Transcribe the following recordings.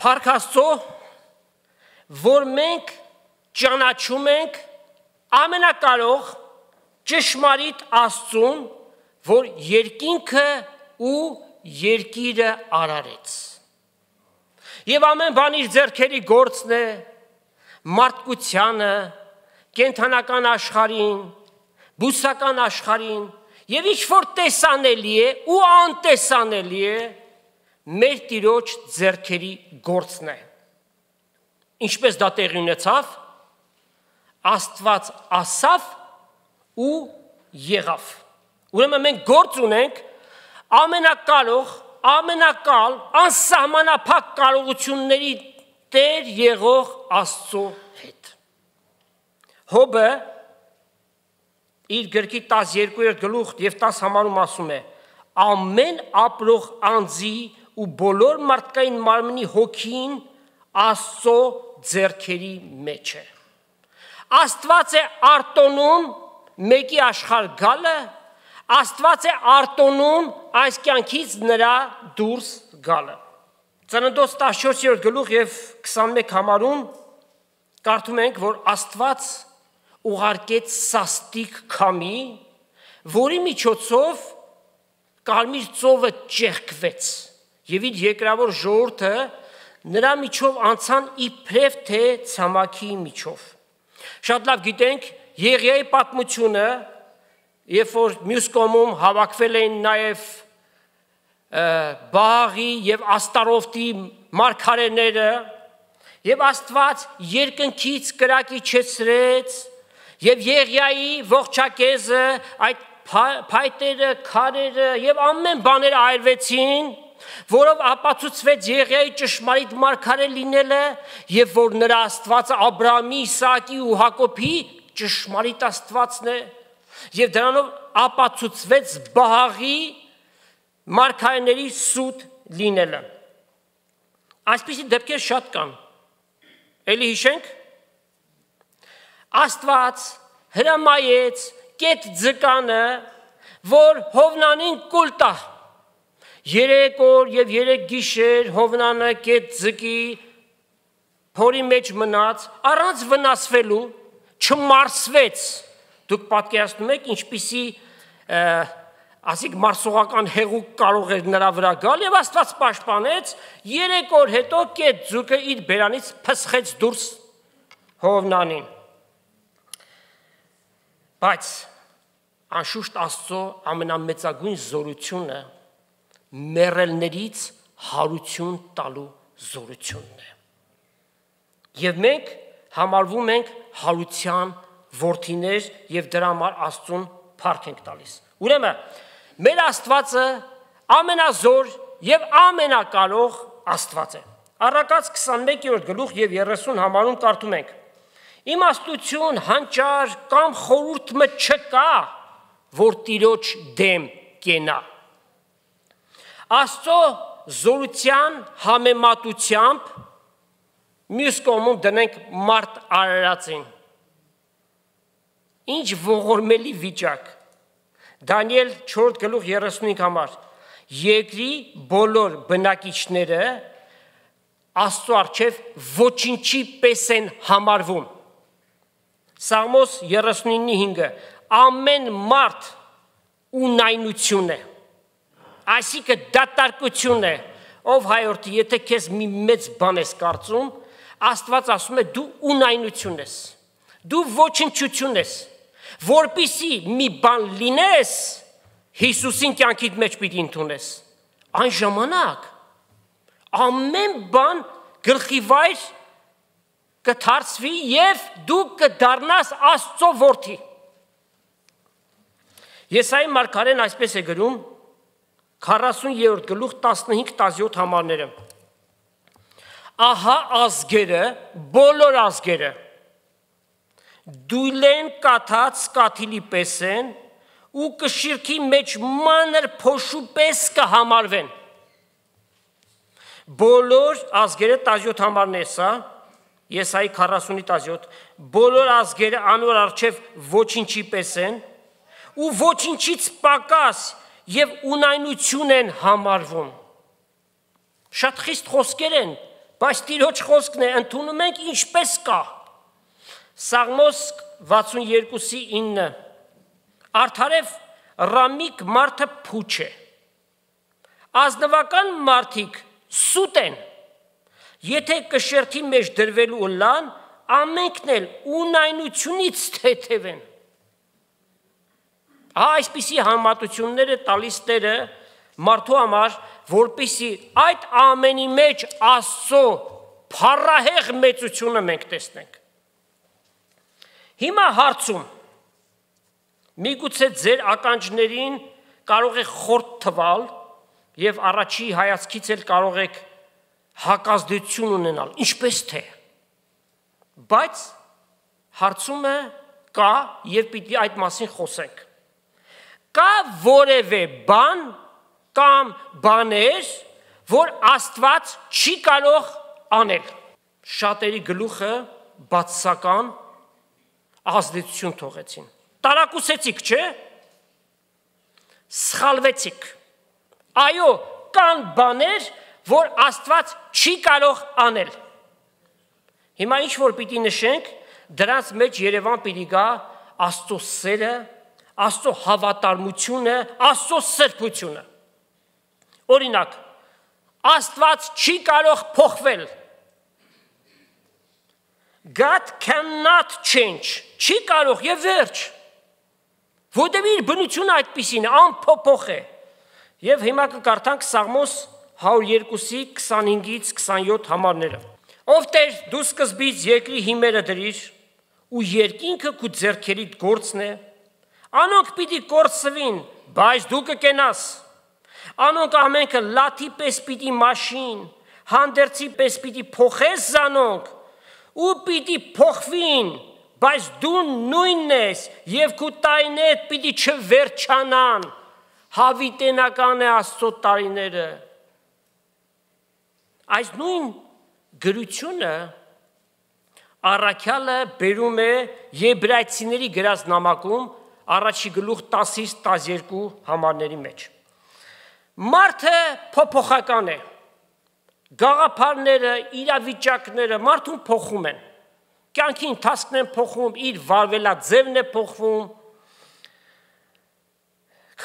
Փառք Աստծո, որ մենք ճանաչում ենք ամենակարող ճշմարիտ Աստծուն, որ երկինքը ու երկիրը արարեց։ Եվ ամեն բան իր ձեռքերի գործն է, մարդկությանը, կենդանական աշխարհին, բուսական աշխարհին, եւ ինչ որ տեսանելի է ու անտեսանելի է, մեր Տիրոջ ձեռքերի գործն է։ Ինչպես դա տեղի ունեցավ, Աստված ասավ ու եղավ։ Ուրեմն մենք գործ ունենք ամենակարող, ամենակալ, անսահմանափակ կարողությունների Տեր եղող Աստծո հետ։ Հոբը իր գրքի 12-րդ գլուխ եւ 10 համարում ասում է. ամեն ապրող անձի ու բոլոր մարդկային մարմնի հոգին Աստծո ձեռքերի մեջ է։ Աստված է արտոնում մեկի աշխարհ գալը, Աստված է արտոնում այս կյանքից նրա դուրս գալը։ Ծննդոց 14-րդ գլուխ եւ 21 համարում կարդում ենք, որ Աստված ուղարկեց սաստիկ քամի, որի միջոցով Կարմիր ծովը ճեղքվեց եւ իր երկրավոր ժողովուրդը նրա միջով անցան իբրև թե ցամաքի միջով։ Շատ լավ գիտենք Եղիայի պատմությունը, երբ որ մյուս կողմում հավաքվել էին նաեւ Բաղի եւ Աստարոֆտի մարգարեները, եւ Աստված երկնքից կրակ իջեցրեց եւ Եղիայի ողջակեզը, այդ փայտերը, քարերը եւ ամեն բաները այրվեցին, որով ապացուցվեց Եղիայի ճշմարիտ մարգարե լինելը եւ որ նրա Աստվածը Աբրահամի, Իսահակի ու Հակոբի ճշմարիտ Աստվածն է եւ դրանով ապացուցվեց Բաղի մարգարեների սուտ լինելը։ Այսպիսի դեպքեր շատ կան։ Էլի հիշենք, Աստված հրամայեց կետ ձկանը, որ Հովնանին կուլ տա։ 3 օր եւ 3 գիշեր Հովնանը կետ ձկի փորի մեջ մնաց, առանց վնասվելու, չմարսվեց։ Դուք պատկերացնում եք ինչպիսի ասիկ մարսողական հեղուկ կարող էր նրա վրա գալ եւ Աստված պաշտպանեց, 3 օր հետո կետ ձուկը իր բերանից փսխեց դուրս Հովնանին։ Բայց անշուշտ Աստծո ամենամեծագույն զորությունը մեռելներից հարություն տալու զորությունն է։ Եվ մենք համարվում ենք հարության որդիներ եւ դրա համար Աստծուն փառք ենք տալիս։ Ուրեմն մեր Աստվածը ամենազոր եւ ամենակարող Աստված է։ Առակաց 21-րդ գլուխ եւ 30 համարում կարդում ենք. Իմաստություն, հանճար կամ խորհուրդ մը չկա, որ Տիրոջ դեմ կենա։ Աստծո զորության համեմատությամբ մյուս կողմում դնենք մարդ արարածին։ Ինչ ողորմելի վիճակ։ Դանիել 4 գլուխ 35 համար։ Երկրի բոլոր բնակիչները Աստծո առջև ոչինչի պես են համարվում։ Սաղմոս 39:5 ամեն մարդ ունայնություն է։ Այսինքն դատարկություն է, ով հայորդի, եթե քեզ մի մեծ բան ես կարծում, Աստված ասում է դու ունայնություն ես, դու ոչնչություն ես, որպիսի մի բան լինես, Հիսուսին կյանքիդ մեջ պիտի ընդունես, այն ժամանակ ամեն բան գլխի վայր կդարձվի եւ դու կդառնաս Աստծո որդի։ Եսայի մարգարեն այսպես է գրում 40-րդ գլուխ 15-17 համարները։ Ահա ազգերը, բոլոր ազգերը դույլեն կաթած կաթիլի պես են ու կշիրքի մեջ մանր փոշու պես կհամարվեն։ Բոլոր ազգերը 17 համարն է սա, Եսայի 40-17, բոլոր ազգերը անոր առջև ոչինչի պես են ու ոչինչից պակաս եւ ունայնություն են համարվում։ Շատ խիստ խոսքեր են բայց Տիրոջ խոսքն է ընդունում ենք ինչպես կա։ Սաղմոս 62:9 Արդարև ռամիկ մարդը փուչ է, ազնվական մարդիկ սուտ են, եթե կշերթի մեջ դրվելու լան, ամենքն էլ ունայնությունից թեթև են։ Այսպիսի համատությունները տալիս Տերը մարդու համար, որպեսզի այդ ամենի մեջ Աստծո փառահեղ մեծությունը մենք տեսնենք։ Հիմա հարցում, միգուցե ձեր ականջներին կարող է խորտ թվալ եւ առաջի հայացքից էլ կարող եք հակազդեցություն ունենալ, ինչպես թե։ Բայց հարցումը կա եւ պիտի այդ մասին խոսենք։ Կա որևէ բան կամ բաներ, որ Աստված չի կարող անել։ Շատերի գլուխը բացասական ազդեցություն թողեցին։ Տարակուսեցիք, չէ՞։ Սխալվեցիք։ Այո, կան բաներ, որ Աստված չի կարող անել։ Հիմա ինչ որ պիտի նշենք, դրանց մեջ Երևան պիտի գա Աստծո սերը, Աստծո հավատարմությունը, Աստծո սրբությունը։ Օրինակ, Աստված չի կարող փոխվել։ God cannot change, չի կարող եւ վերջ։ Որտեղ իր բնությունը այդպիսին է, անփոփոխ է։ Եվ հիմա կկարդանք Սաղմոս 102:25-ից 27 համարները։ Ով Տեր, դու սկզբից երկրի հիմերը դրիր, ու երկինքը քու ձեռքերիդ գործն է, անոնք պիտի կորսվին, բայց դու կկենաս։ Անոնք ամենքը լաթի պես պիտի մաշին, հանդերձի պես պիտի փոխես զանոնք, ու պիտի փոխվին, բայց դու նույնն ես, եւ քու տարիներդ պիտի չվերջանան։ Հավիտենական է Աստծո տարիները։ Այս նույն գրությունը առաքյալը բերում է Եբրայեցիների գրած նամակում առաջի գլուխ 10-ից 12 համարների մեջ։ Մարդը փոփոխական է։ Գաղափարները, իրավիճակները մարդուն փոխում են։ Կյանքի ընթացքն են փոխում, իր վարվելաձևն է փոխվում։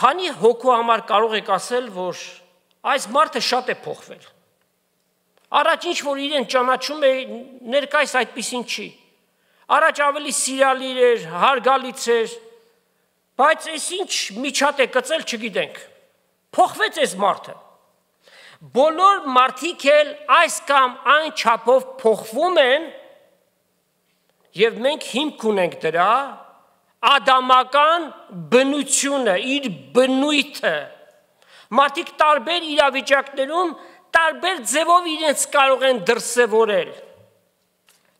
Քանի հոգու համար կարող եք ասել, որ այս մարդը շատ է փոխվել։ Առաջ ինչ որ իրեն ճանաչում է, ներկայիս այդպիսին չի։ Առաջ ավելի սիրալիր էր, հարգալից էր, բայց այս ինչ միջատ է գծել, չգիտենք։ Փոխվեց այս մարդը։ Բոլոր մարդիկ էլ այս կամ այն չափով փոխվում են, եւ մենք հիմք ունենք դրա ադամական բնությունը, իր բնույթը։ Մարդիկ տարբեր իրավիճակներում տարբեր ձևով իրենց կարող են դրսևորել։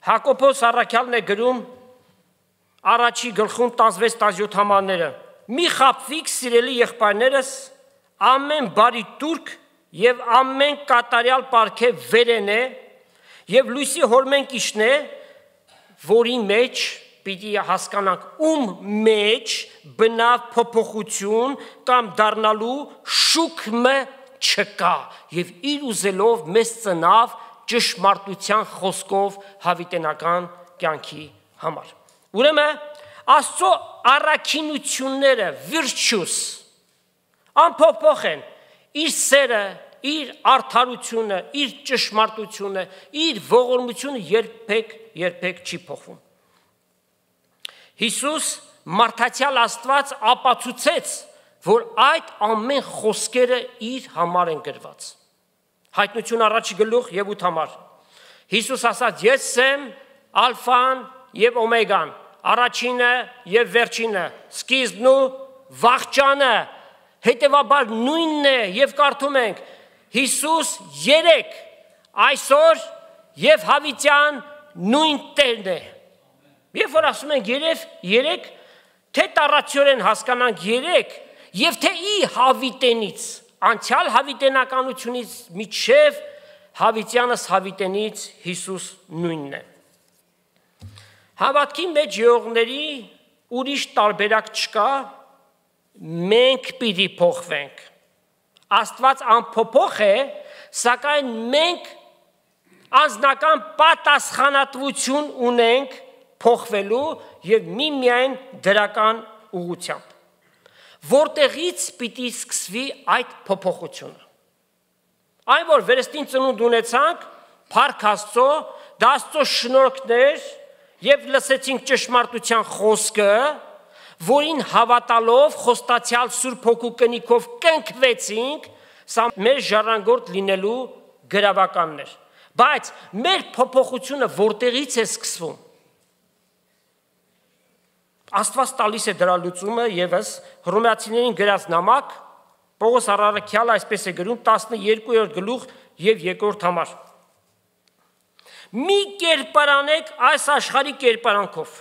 Հակոբոս առաքյալն է գրում առաջի գլխում 16-17 համարները. Մի խաբվիկ սիրելի եղբայրներս, ամեն բարի տուրք եւ ամեն կատարյալ պարգև վերեն է եւ լույսի հորմենք իշն է, որի մեջ պիտի հասկանանք ում մեջ բնավ փոփոխություն կամ դառնալու շուկը չկա եւ իր ուզելով մեզ ծնավ ճշմարտության խոսքով հավիտենական կյանքի համար։ Ուրեմն Աստծո առաքինությունները virtues անփոփոխ են, իր սերը, իր արդարությունը, իր ճշմարտությունը, իր ողորմությունը երբեք չի փոխվում։ Հիսուս մարդացյալ Աստված ապացուցեց, որ այդ ամեն խոսքերը իր համար են գրված։ Հայտնություն առաջի գլուխ եւ 8 համար։ Հիսուս ասաց. Ես եմ ալֆան եւ օմեգան, առաջինը եւ վերջինը, սկիզբն ու վախճանը, հետեւաբար նույնն է եւ կարդում ենք Հիսուս 3 այսօր եւ հավիտյան նույն Տերն է։ Երբ որ ասում ենք 3, թե տառացիորեն հասկանանք 3 եւ թե ի հավիտենից, անցյալ հավիտենականությունից միջև հավիտյանս հավիտենից Հիսուս նույնն է։ Հավատքի մեջ եղողների ուրիշ տարբերակ չկա, մենք պիտի փոխվենք։ Աստված անփոփոխ է, սակայն մենք անձնական պատասխանատվություն ունենք փոխվելու եւ միմիայն դրական ուղղությամբ։ Որտեղից պիտի սկսվի այդ փոփոխությունը։ Այն որ վերստին ծնունդ ունեցանք, փառք Աստծո, դա Աստծո շնորհքներ եւ լսեցինք ճշմարտության խոսքը, որին հավատալով խոստացյալ Սուրբ Հոգու կնիքով կնքվեցինք, սա մեր ժառանգորդ լինելու գրավականն էր։ Բայց մեր փոփոխությունը որտեղից է սկսվում։ Աստված տալիս է դրա լուծումը եւս Հռոմեացիներին գրած նամակ, Պողոս առաքյալը այսպես է գրում 12-րդ գլուխ եւ 2-րդ համար։ Մի կերպարանեք այս աշխարհի կերպարանքով։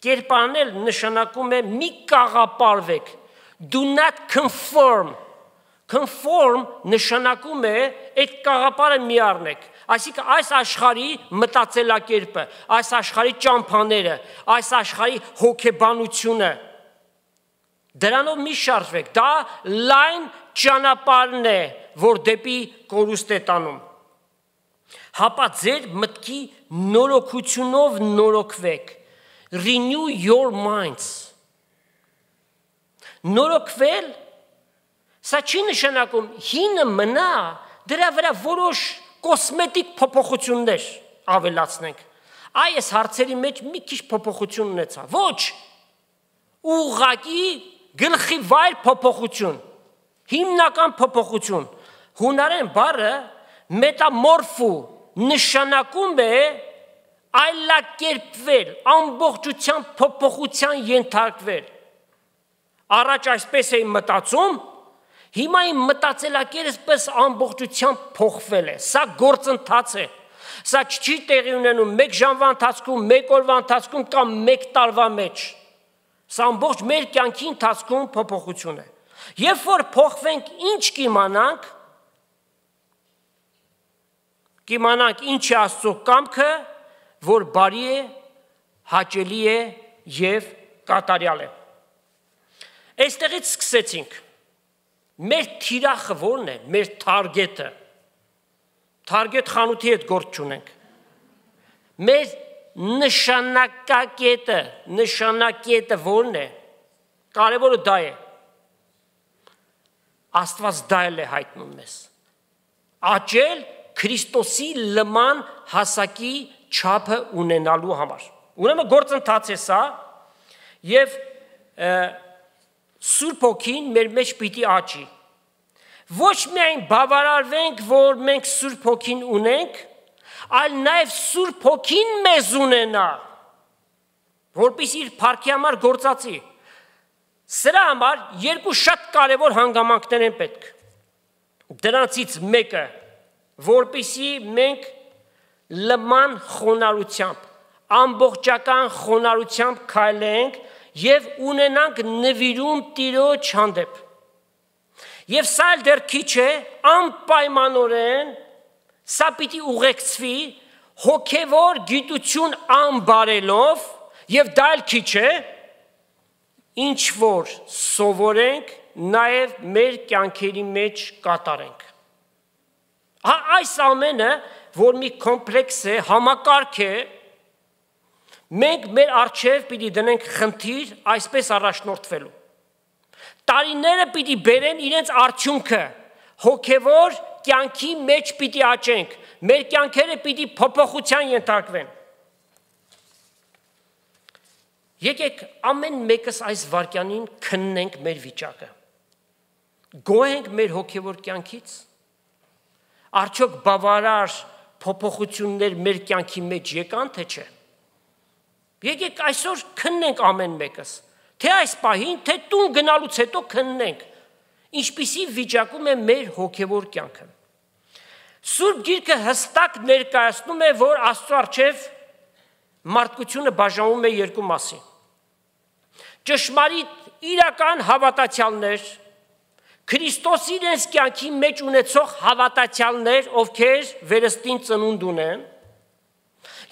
Կերպարանել նշանակում է մի կաղապարվեք։ Do not conform. Conform նշանակում է այդ կաղապարը մի առնեք։ Այսինքն այս աշխարհի մտածելակերպը, այս աշխարհի ճամփաները, այս աշխարհի հոգեբանությունը դրանով մի շարժվեք։ Դա լայն ճանապարհն է, որ դեպի կորուստ է տանում։ Հապա ձեր մտքի նորոգությունով նորոգվեք։ Renew your minds. Նորոգվել սա չի նշանակում հինը մնա, դրա վրա որոշ կոսմետիկ փոփոխություններ ավելացնենք։ Այս հարցերի մեջ մի քիչ փոփոխություն ունեցա։ Ոչ, ուղղակի գլխի վայր փոփոխություն, հիմնական փոփոխություն։ Հունարեն բառը մետամորֆու նշանակում է այլակերպվել, ամբողջությամբ փոփոխության ենթարկվել։ Առաջ այսպես էի մտածում, հիմա իմ մտածելակերպս ամբողջությամբ փոխվել է։ Սա գործընթաց է։ Սա չի տեղի ունենում 1 ժամվա ընթացքում, 1 օրվա ընթացքում կամ 1 տարվա մեջ։ Սա ամբողջ մեր կյանքի ընթացքում փոփոխություն է։ Երբ որ փոխվենք, ինչ կիմանանք ինչ է Աստծո կամքը, որ բարի է, հաճելի է եւ կատարյալ է։ Այստեղից սկսեցինք։ Մեր թիրախը որն է, մեր թարգետը։ Թարգետ խանութի հետ գործ չունենք։ Մեր նշանակակետը որն է, կարևորը դա է։ Աստված դա էլ է հայտնում մեզ։ Աճել Քրիստոսի լման հասակի չափը ունենալու համար։ Ուրեմն գործընթաց է սա եւ Սուրբ Հոգին մեր մեջ պիտի աճի։ Ոչ միայն բավարարվենք, որ մենք Սուրբ Հոգին ունենք, այլ նաև Սուրբ Հոգին մեզ ունենա, որպեսզի իր փառքի համար գործածի։ Սրա համար երկու շատ կարևոր հանգամանքներ են պետք։ Դրանցից մեկը, որպեսզի մենք լման խոնարհությամբ, ամբողջական խոնարհությամբ քայլենք եւ ունենանք նվիրում Տիրոջ հանդեպ։ Եվ սա դեռ քիչ է, անպայմանորեն սա պիտի ուղեկցվի հոգևոր գիտություն անբարելով եւ դա էլ քիչ է, ինչ որ սովորենք, նաեւ մեր կյանքերի մեջ կատարենք։ Այս ամենը, որ մի կոմպլեքս է, համակարգ է, մենք մեր առջև պիտի դնենք խնդիր այսպես առաջնորդվելու։ Տարիները պիտի բերեն իրենց արդյունքը, հոգևոր կյանքի մեջ պիտի աճենք, մեր կյանքերը պիտի փոփոխության ենթարկվեն։ Եկեք ամեն մեկս այս վարքյանին քննենք մեր վիճակը։ Գոհենք մեր հոգևոր կյանքից։ Արդյոք բավարար փոփոխություններ մեր կյանքի մեջ եկան, թե չէ։ Եկեք այսօր քննենք ամեն մեկս, թե այս պահին, թե տուն գնալուց հետո քննենք, ինչպիսի վիճակում է մեր հոգևոր կյանքը։ Սուրբ Գիրքը հստակ ներկայացնում է, որ Աստծո առջև մարդկությունը բաժանվում է երկու մասի։ Ճշմարիտ իրական հավատացյալներ, Քրիստոսի իրենց կյանքի մեջ ունեցող հավատացյալներ, ովքեր վերստին ծնունդ ունեն,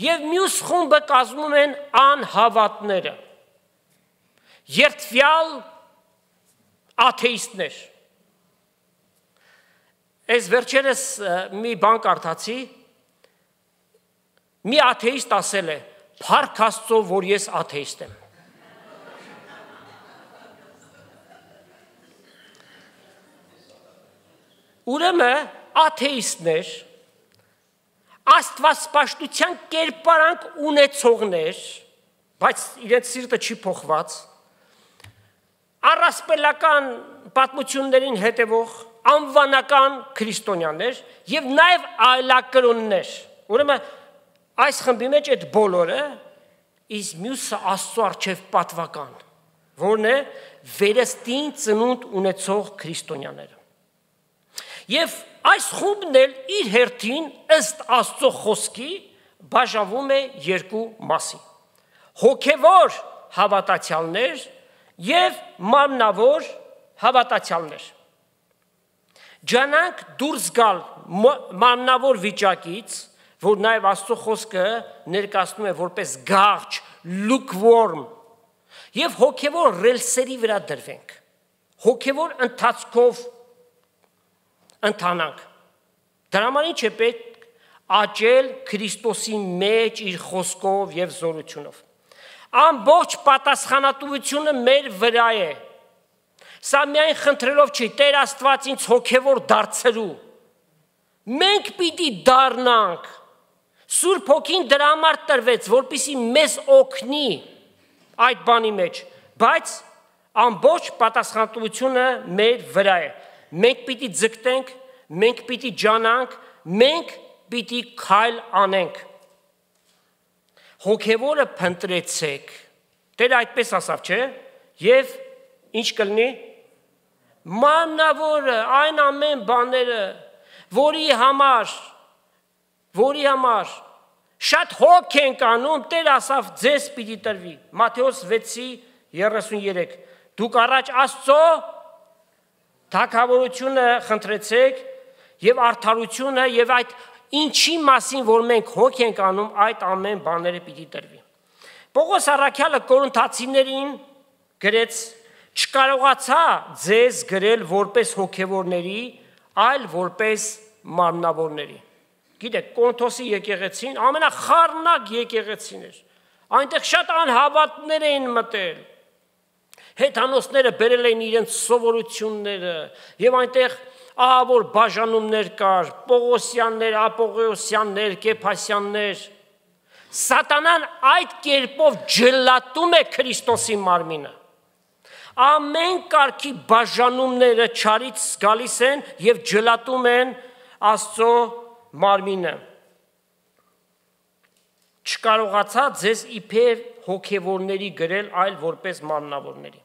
եւ մյուս խումբը կազմում են անհավատները, երդվյալ աթեիստներ։ Այս վերջերս մի բան կարդացի, մի աթեիստ ասել է, փառք Աստծո, որ ես աթեիստ եմ։ Ուրեմն աթեիստներ, աստվածպաշտության կերպարանք ունեցողներ, բայց իրենց սիրտը չի փոխված, առասպելական պատմություններին հետևող անվանական քրիստոնյաներ եւ նաեւ այլակրոններ։ Ուրեմն այս խմբի մեջ այդ բոլորը իսկ մյուսը Աստծո առջև պատվական, որն է վերստին ծնունդ ունեցող քրիստոնյաները։ Եվ այս խումբն էլ իր հերթին ըստ Աստծո խոսքի բաժանվում է երկու մասի։ Հոգևոր հավատացյալներ եւ մարմնավոր հավատացյալներ։ Ջանանք դուրս գալ մարմնավոր վիճակից, որ նաև Աստծո խոսքը ներկայացնում է որպես գաղջ, lukewarm, եւ հոգևոր ռելսերի վրա դրվենք, հոգևոր ընթացքով ընթանանք։ Դրա համար ինչ է պետք աճել Քրիստոսի մեջ իր խոսքով եւ զորությունով։ Ամբողջ պատասխանատվությունը մեր վրա է։ Սա միայն խնդրելով չի, Տեր Աստված ինձ հոգևոր դարձրու։ Մենք պիտի դառնանք։ Սուրբ Հոգին դրա համար տրվեց, որպեսզի մեզ օգնի այդ բանի մեջ, բայց ամբողջ պատասխանատվությունը մեր վրա է։ Մենք պիտի ձգտենք, մենք պիտի ջանանք, մենք պիտի քայլ անենք։ Հոգևորը փնտրեցեք։ Տերը այդպես ասավ, չէ՞։ Եվ ինչ կլինի։ Մաննավորը, այն ամեն բաները, որի համար շատ հոգ ենք անում, Տեր ասավ ձեզ պիտի տրվի։ Մատթեոս 6:33 Դուք առաջ Աստծո թագավորությունը խնդրեցեք եւ արդարությունը եւ այդ ինչի մասին, որ մենք հոգ ենք անում, այդ ամեն բաները պիտի տրվի։ Պողոս առաքյալը Կորինթացիներին գրեց. չկարողացա ձեզ գրել որպես հոգևորների, այլ որպես մարմնավորների։ Գիտեք, Կորինթոսի եկեղեցին ամենախառնակ եկեղեցին էր։ Այնտեղ շատ անհավատներ էին մտել։ Հեթանոսները բերել էին իրենց սովորությունները եւ այնտեղ ահավոր բաժանումներ կար, Պողոսյաններ, Ապողեոսյաններ, Կեփասյաններ։ Սատանան այդ կերպով ջլատում է Քրիստոսի մարմինը։ Ամեն կարգի բաժանումները չարից գալիս են եւ ջլատում են Աստծո մարմինը։ Չկարողացա ձեզ իբր հոգևորների գրել, այլ որպես մարմնավորների։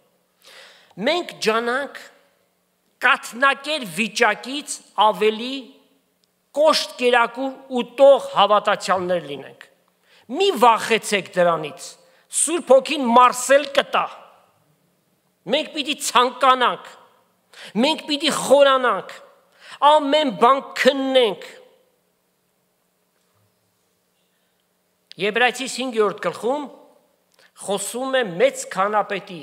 Մենք ջանանք կաթնակեր վիճակից ավելի կոշտ կերակուր ուտող հավատացյալներ լինենք։ Մի վախեցեք դրանից։ Սուրբ Հոգին մարսել կտա։ Մենք պիտի ցանկանանք, մենք պիտի խորանանք, ամեն բան քննենք։ Եբրայեցիս 5-րդ գլխում խոսում է մեծ քահանապետի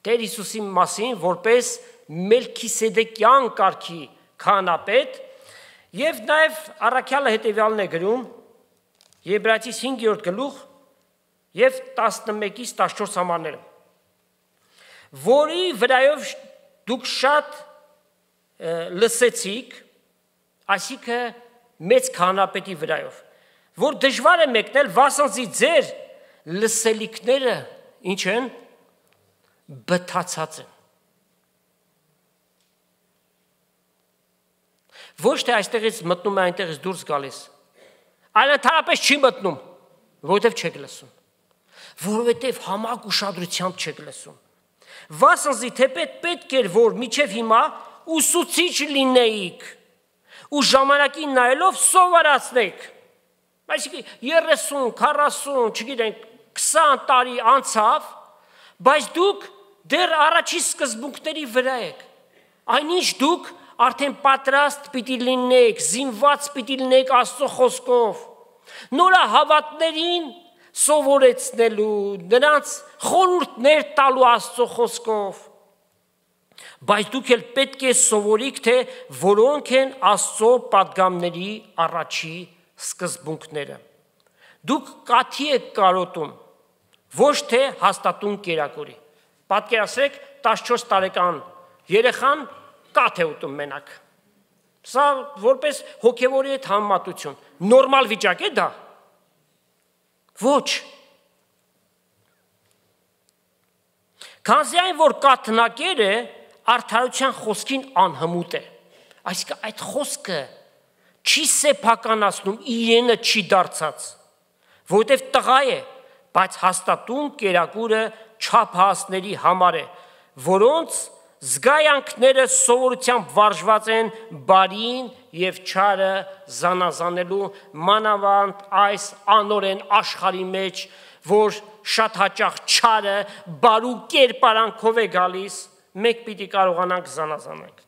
Տեր Հիսուսի մասին, որպես Մելքիսեդեկյան կարգի քահանապետ, եւ նաեւ առաքյալը հետեւյալն է գրում Եբրայեցիս 5-րդ գլուխ եւ 11-ից 14 համարները, որի վրայով դուք շատ լսեցիք, այսինքն մեծ քահանապետի վրայով, որ դժվար է մեկնել, վասնզի ձեր լսելիքները ինչ են, բթացած են։ Ոչ թե այստեղից մտնում է, այնտեղից դուրս գալիս, այլ ընդհանրապես չի մտնում, որովհետև չեք լսում, որովհետև համակ ուշադրությամբ չեք լսում։ Վասնզի թեպետ պետք էր, որ միջև հիմա ուսուցիչ լինեիք ու ժամանակին նայելով սովորացնեիք։ Այսինքն 30, 40, չգիտենք, 20 տարի անցավ, բայց դուք դեռ առաջի սկզբունքների վրա եք։ Այնինչ դուք արդեն պատրաստ պիտի լինեք, զինված պիտի լինեք Աստծո խոսքով։ Նորահավատներին սովորեցնելու, նրանց խորհուրդներ տալու Աստծո խոսքով։ բայց դուք էլ պետք է սովորիք, թե որոնք են Աստծո պատգամների առաջի սկզբունքները։ Դուք կաթի եք կարոտում, ոչ թե հաստատուն կերակուրի։ Պատկերացրեք 14 տարեկան երեխան կաթ է ուտում մենակ։ Սա որպես հոգևորի հետ համեմատություն, նորմալ վիճակ է դա։ Ոչ։ Քանզի այն, որ կաթնակերը արդարության խոսքին անհմուտ է, այսինքն այդ խոսքը չի սեփականացնում, իրենը չի դարձած, որովհետև տղա է, բայց հաստատուն կերակուրը չափահասների համար է, որոնց զգայանքները սովորությամբ վարժված են բարին և չարը զանազանելու, մանավանդ այս անօրեն աշխարհի մեջ, որ շատ հաճախ չարը բարու կերպարանքով է գալիս, մենք պիտի կարողանանք զանազանենք։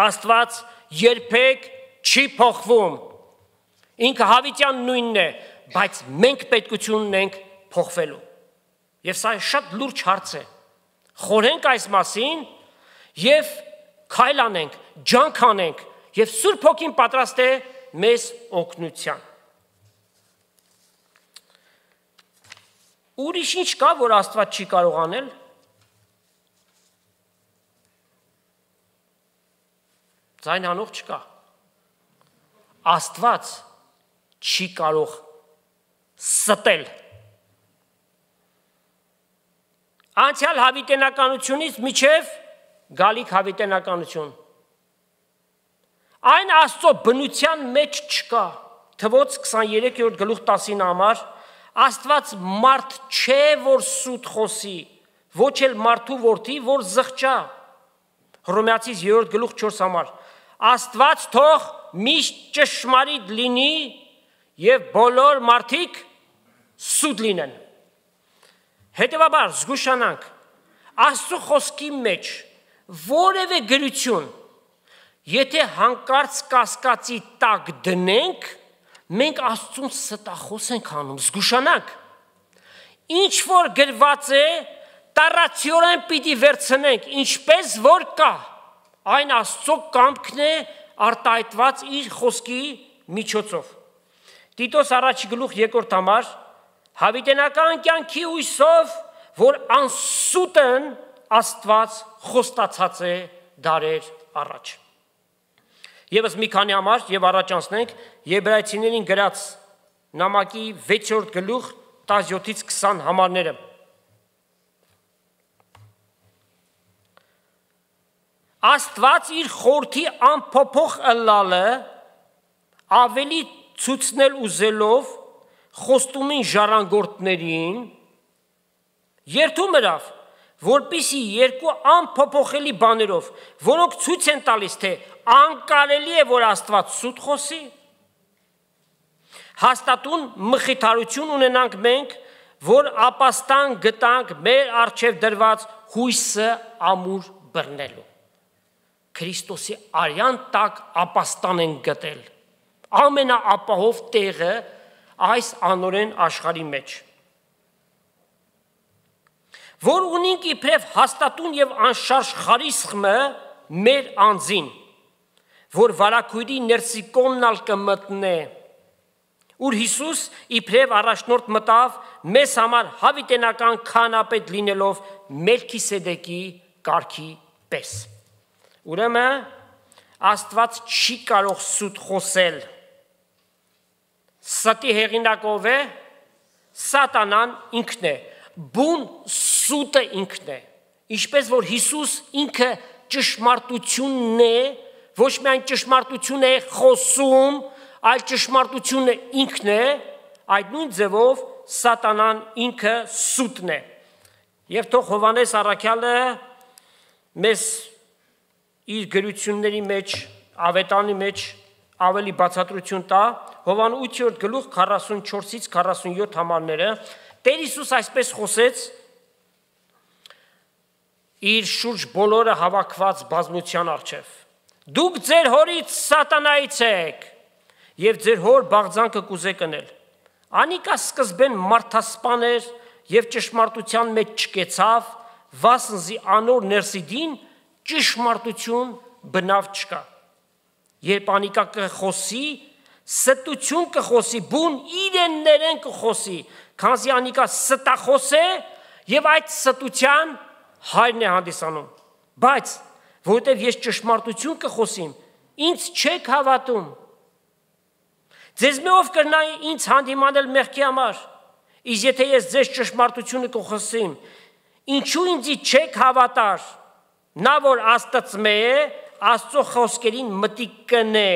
Աստված երբեք չի փոխվում, ինքը հավիտյան նույնն է, բայց մենք պետքություն ունենք փոխվելու։ Եվ սա շատ լուրջ հարց է։ Խորհենք այս մասին և քայլ անենք, ջանք անենք և Սուրբ Հոգին պատրաստ է մեզ օգնության։ Ուրիշ ինչ կա, որ Աստված չի կարող անել։ Ձայն հանող չկա։ Աստված չի կարող ստել։ Անցյալ հավիտենականությունից միջև գալիք հավիտենականություն։ Այն Աստծո բնության մեջ չկա։ Թվոց 23-րդ գլուխ 10-ին համար Աստված մարդ չէ, որ սուտ խոսի, ոչ էլ մարդու որդի, որ զղջա։ Հռոմեացիս 3-րդ գլուխ 4 համար Աստված թող միշտ ճշմարիտ լինի և բոլոր մարդիկ սուտ լինեն։ Հետևաբար զգուշանանք, Աստծո խոսքի մեջ որևէ գրություն, եթե հանկարծ կասկածի տակ դնենք, մենք Աստծուն ստախոս ենք անում, զգուշանանք, ինչ որ գրված է, տառացիորեն պիտի վերցնենք, ինչպես որ կա, այն Աստծո կամքն է արտահայտված իր խոսքի միջոցով։ Տիտոս առաջի գլուխ 2-րդ համար հավիտենական կյանքի հույսով, որ անսուտն Աստված խոստացած է դարեր առաջ։ Եվս մի քանի համար և առաջ անցնենք Եբրայեցիներին գրած նամակի 6-րդ գլուխ 17-ից 20 համարները։ Աստված իր խորհրդի անփոփոխ ըլլալը ավելի ցույցնել ուզելով խոստումին ժառանգորդներին երդում ըրավ, որպիսի երկու անփոփոխելի բաներով, որոնք ցույց են տալիս, թե անկարելի է, որ Աստված սուտ խոսի, հաստատուն մխիթարություն ունենանք մենք, որ ապաստան գտանք մեր առջև դրված հույսը ամուր բռնելու։ Քրիստոսի արյան տակ ապաստան են գտել, ամենաապահով տեղը այս անօրեն աշխարհի մեջ, որ ունենք իբրև հաստատուն և անշարժ խարիսխմը մեր անձին, որ վարագույրի ներսի կողմնալ կմտնե, ուր Հիսուս իբրև առաջնորդ մտավ մեզ համար հավիտենական քահանապետ լինելով Մելքիսեդեկի կարգի պես։ Ուրեմն Աստված չի կարող սուտ խոսել։ Ստի հեղինակով է, Սատանան ինքն է, բուն սուտը ինքն է, ինչպես որ Հիսուս ինքը ճշմարտությունն է, ոչ միայն ճշմարտություն է խոսում, այլ ճշմարտությունը ինքն է, այդ նույն ձևով Սատանան ինքը սուտն է։ Եվ թող Հովհաննես առաքյալը մեզ իր գրությունների մեջ, ավետանի մեջ ավելի բացատրություն տա, Հովհաննես 8-րդ գլուխ 44-ից 47 համարները, Տեր Հիսուս այսպես խոսեց իր շուրջ բոլորը հավաքված բազմության առջև. Դուք ձեր հորից Սատանայից եք, և ձեր հոր բաղձանքը կուզեք ընել։ Անիկա սկզբեն մարդասպան էր և ճշմարտության մեջ չկեցավ, վասնզի անոր ներսիդին ճշմարտություն բնավ չկա։ Երբ անիկա կխոսի, ստություն կխոսի, բուն իրեններեն կխոսի, քանզի անիկա ստախոս է եւ այդ ստության հայրն է հանդիսանում։ Բայց որովհետեւ ես ճշմարտություն կխոսիմ, ինձ չեք հավատում։ Ձեզ մի ով կրնա ինձ հանդիմանել մեղքի համար, իսկ եթե ես ձեզ ճշմարտությունը կխոսիմ, ինչու ինձի չեք հավատար։ Նա որ Աստծմե է, Աստծո խոսքերին մտիկ կնե։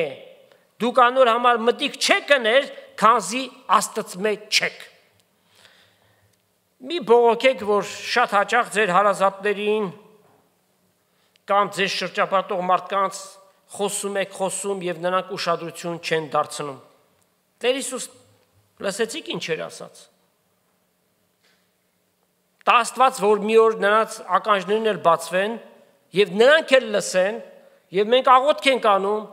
Դուք անոր համար մտիկ չեք կներ, քանզի Աստծմե չեք։ Մի բողոքեք, որ շատ հաճախ ձեր հարազատներին կամ ձեզ շրջապատող մարդկանց խոսում եւ նրանք ուշադրություն չեն դարձնում։ Տեր Հիսուս լսեցիք ինչ էր ասած։ Դա Աստված, որ մի օր նրանց ականջներն էլ բացվեն եւ նրանք էլ լսեն եւ մենք աղոթք ենք անում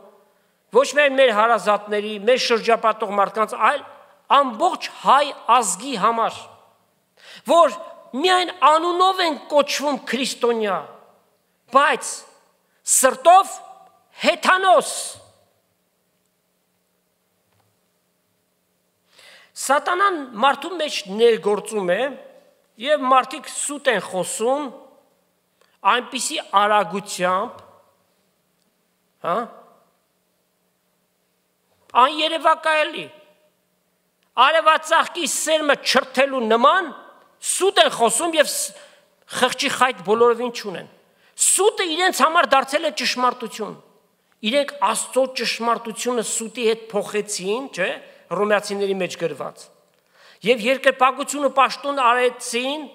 ոչ միայն մեր հարազատների, մեր շրջապատող մարդկանց, այլ ամբողջ հայ ազգի համար, որ միայն անունով են կոչվում քրիստոնյա, բայց սրտով հեթանոս։ Սատանան մարդու մեջ ներգործում է եւ մարդիկ սուտ են խոսում այնպիսի արագությամբ, Աներևակայելի, արևածաղկի սերմը չրթելու նման սուտ են խոսում եւ խղճի խայտ բոլորովին չունեն։ Սուտը իրենց համար դարձել է ճշմարտություն։ Իրենք Աստծո ճշմարտությունը սուտի հետ փոխեցին, չէ՞, Հռոմեացիների մեջ գրված։ Եվ երկրպագությունը պաշտոն արեցին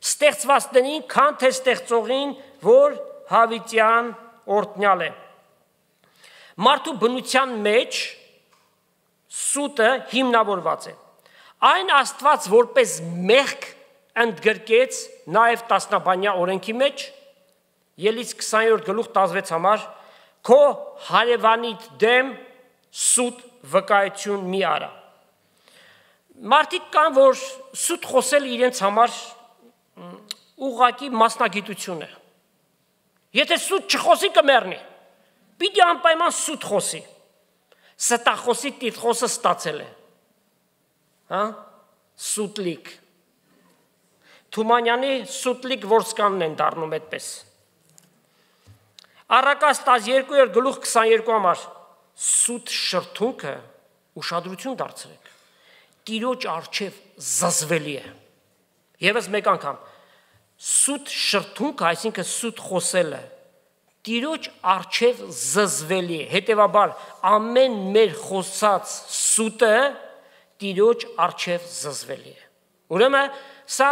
ստեղծվածներին, քան թե ստեղծողին, որ հավիտյան օրհնյալ է։ Մարդու բնության մեջ սուտը հիմնավորված է։ Այն Աստված որպես մեղք ընդգրկեց նաև տասնաբանյա օրենքի մեջ, Ելից 20-րդ գլուխ 16 համար, քո հարևանիդ դեմ սուտ վկայություն մի արա։ Մարդիկ կան, որ սուտ խոսել իրենց համար ուղղակի մասնագիտություն է։ Եթե սուտ չխոսի կմեռնի, պիտի անպայման սուտ խոսի։ Ստախոսի տիտղոսը ստացել է։ Սուտլիկ։ Թումանյանի սուտլիկ որսկանն են դառնում այդպես։ Առակաց 12-րդ գլուխ 22 համար սուտ շրթունքը ուշադրություն դարձրեք։ Տիրոջ առջև զզվելի է։ Եվս մեկ անգամ սուտ շրթունքը, այսինքն սուտ խոսելը, Տիրոջ առջև զզվելի է։ Հետևաբար ամեն մեր խոսած սուտը Տիրոջ առջև զզվելի է։ Ուրեմն սա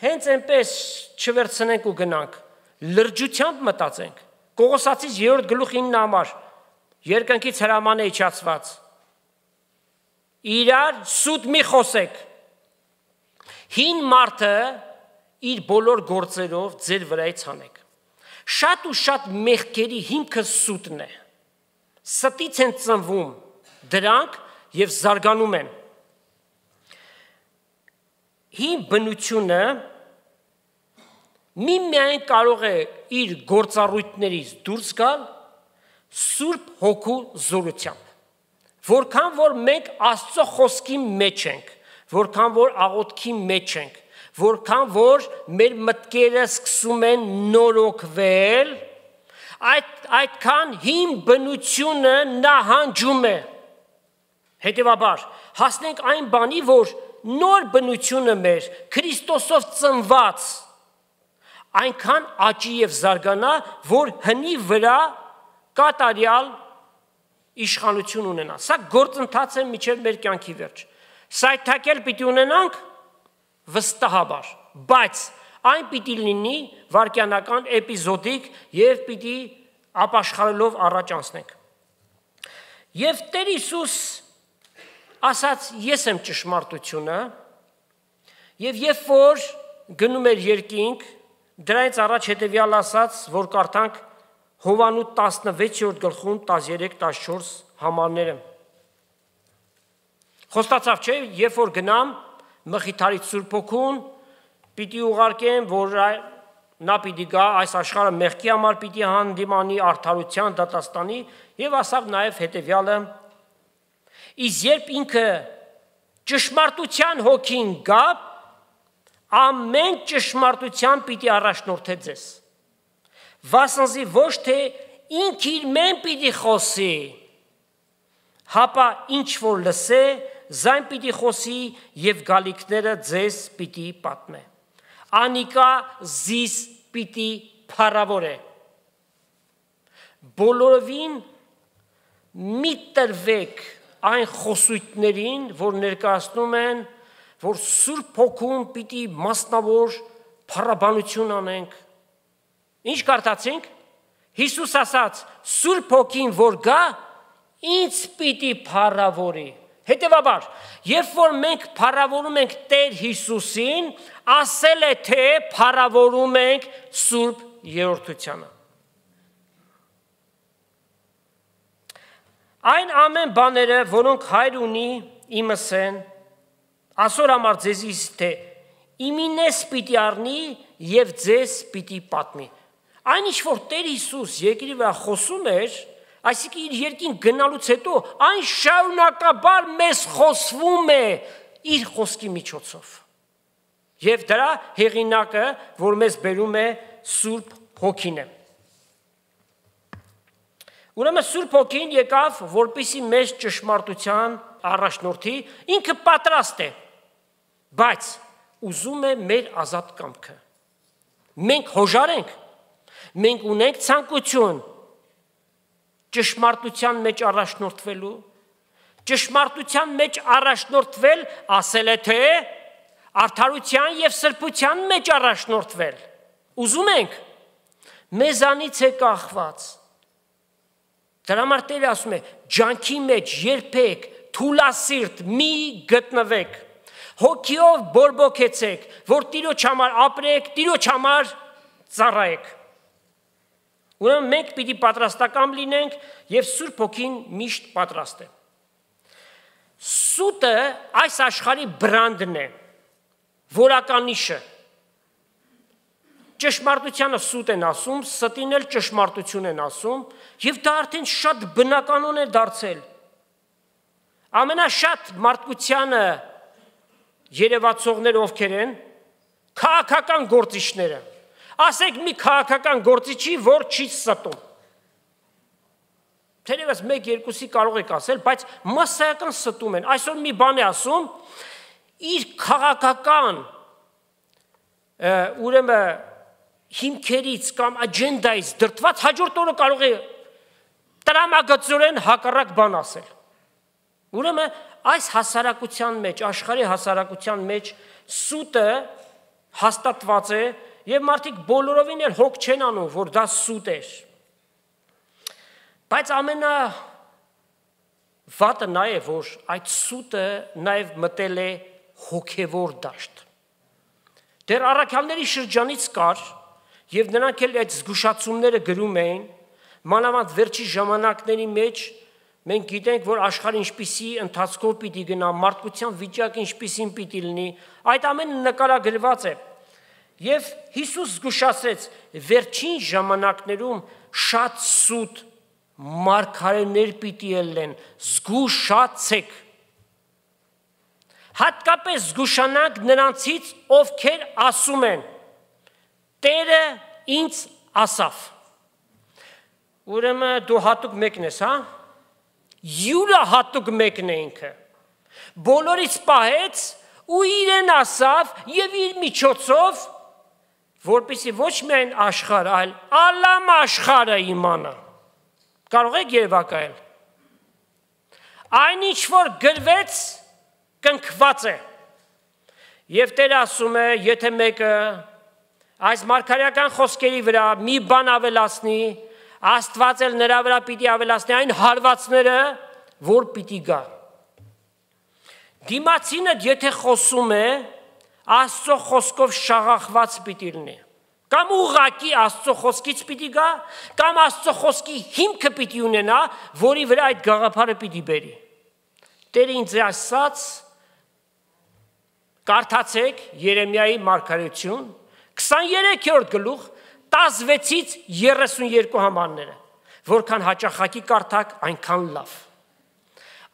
հենց այնպես չվերցնենք ու գնանք, լրջությամբ մտածենք։ Կողոսացիս 3-րդ գլուխ 9 համար երկնքից հրաման է իջացված։ Իրար սուտ մի խոսեք։ Հին մարդը իր բոլոր գործերով ձեր վրայից հանեք։ Շատ ու շատ մեղքերի հիմքը սուտն է։ Ստից են ծնվում դրանք եւ զարգանում են։ Հին բնությունը միմիայն կարող է իր գործառույթներից դուրս գալ Սուրբ Հոգու զորությամբ։ Որքան որ մենք Աստծո խոսքի մեջ ենք, որքան որ աղոթքի մեջ ենք, որքան որ մեր մտքերը սկսում են նորոգվել, այդքան հին բնությունը նահանջում է։ Հետևաբար հասնենք այն բանի, որ նոր բնությունը մեր Քրիստոսով ծնված այնքան աճի եւ զարգանա, որ հնի վրա կատարյալ իշխանություն ունենա։ Սա գործընթաց է մինչև մեր կյանքի վերջ։ Սայթակել պիտի ունենանք վստահաբար, բայց այն պիտի լինի վարքյանական էպիզոդիկ եւ պիտի ապաշխարելով առաջ անցնենք։ Եվ Տեր Հիսուս ասաց ես եմ ճշմարտությունը եւ երբ որ գնում էր երկինք, դրանից առաջ հետեւյալ ասաց, որ կարդանք Հովանու 16-րդ գլխում 13-14 համարները։ Խոստացավ չէ, երբ որ գնամ Մխիթարից Սուրբ Հոգուն, պիտի ուղարկեմ, որ նա պիտի գա այս աշխարհը մեղքի համար պիտի հանդիմանի արդարության դատաստանի եւ ասավ նաեւ հետեւյալը. իսկ երբ ինքը ճշմարտության հոգին գա, ամեն ճշմարտության պիտի առաջնորդե ձեզ, վասնզի ոչ թե ինք իր մեն պիտի խոսի, հապա ինչ որ լսե, զայն պիտի խոսի եւ գալիքները ձեզ պիտի պատմե, անիկա զիս պիտի փառավորե, բոլորովին մի տրվեք այն խոսույթներին, որ ներկայացնում են, որ Սուրբ Հոգուն պիտի մասնավոր փառաբանություն անենք, ինչ կարդացինք, Հիսուս ասաց, Սուրբ Հոգին որ գա, ինձ պիտի փառավորի, հետևաբար, երբ որ մենք փառավորում ենք Տեր Հիսուսին, ասել է թե փառավորում ենք Սուրբ Երրորդությանը։ Այն ամեն բաները, որոնք Հայր ունի, իմս են, ասոր համար ձեզիս թե իմինես պիտի առնի եւ ձեզ պիտի պատմի։ Այն ինչ որ Տեր Հիսուս երկրի վրա խոսում էր, այսինքն իր երկին գնալուց հետո այն շարունակաբար մեզ խոսվում է իր խոսքի միջոցով։ Եվ դրա հեղինակը, որ մեզ բերում է Սուրբ Հոգին է։ Ուրեմն Սուրբ Հոգին եկավ, որպեսզի մեզ ճշմարտության առաջնորդի, ինքը պատրաստ է, բայց ուզում է մեր ազատ կամքը։ Մենք հոժար ենք, մենք ունենք ցանկություն ճշմարտության մեջ առաջնորդվելու, ճշմարտության մեջ առաջնորդվել, ասել է թե արդարության եւ սրբության մեջ առաջնորդվել։ Ուզում ենք, մեզանից է կախված։ Դրա համար Տերը ասում է, ջանքի մեջ երբեք թուլասիրտ մի գտնվեք, հոգիով բորբոքեցեք, որ Տիրոջ համար ապրեք, Տիրոջ համար ծառայեք։ Ուրեմն մենք պիտի պատրաստական լինենք եւ Սուրբ Հոգին միշտ պատրաստ է։ Սուտը այս աշխարհի բրանդն է, որականիշը։ Ճշմարտությանը սուտ են ասում, ստին էլ ճշմարտություն են ասում, եւ դա արդեն շատ բնականon է դարձել։ Ամենաշատ մարդկությանը երևացողները ովքեր են, քաղաքական գործիչները։ Ասեք մի քաղաքական գործիչի, որ չի ստում։ Թերևս 1-2-ի կարող եք ասել, բայց մասսայական ստում են։ Այսօր մի բան է ասում, իր քաղաքական ուրեմն հիմքերից կամ աջենդայից դրդված հաջորդ օրը կարող է տրամագծորեն հակառակ բան ասել։ Ուրեմն այս հասարակության մեջ, աշխարհի հասարակության մեջ սուտը հաստատված է եւ մարդիկ բոլորովին էլ հոգ չեն անում, որ դա սուտ է։ Բայց ամենա վատը նա է, որ այդ սուտը նաեւ մտել է հոգեվոր դաշտ։ Դեռ առաքյալների շրջանից կար եւ նրանք էլ այդ զգուշացումները գրում էին, մանավանդ վերջի ժամանակների մեջ մենք գիտենք, որ աշխարհը ինչպիսի ընթացքով պիտի գնա, մարդկության վիճակը ինչպիսին պիտի լինի, այդ ամենը նկարագրված է։ Եվ Հիսուս զգուշացրեց, վերջին ժամանակներում շատ սուտ մարգարեներ պիտի ելնեն, զգուշացեք։ Հատկապես զգուշանանք նրանցից, ովքեր ասում են. Տերը ինձ ասավ։ Ուրեմն դու հատուկ մեկն ես, հա? Յուրա հատուկ մեկն է ինքը։ Բոլորից պահեց ու իրեն ասավ եւ իր միջոցով, որպեսզի ոչ միայն աշխարհ, այլ ալամ աշխարհը իմանա։ Կարող եք երևակայել։ Այն ինչ որ գրվեց, կնքված է։ Եվ Տերը ասում է, եթե մեկը այս մարգարեական խոսքերի վրա մի բան ավելացնի, Աստված էլ նրա վրա պիտի ավելացնի այն հարվածները, որ պիտի գա։ Դիմացինը եթե խոսում է, Աստծո խոսքով շաղախված պիտի լինի։ Կամ ուղղակի Աստծո խոսքից պիտի գա, կամ Աստծո խոսքի հիմքը պիտի ունենա, որի վրա այդ գաղափարը պիտի բերի։ Տերը ինձ ասաց, կարդացեք Երեմիայի մարգարեություն, 23-րդ գլուխ 16-ից 32 համարները, որքան հաճախակի կարդաք, այնքան լավ։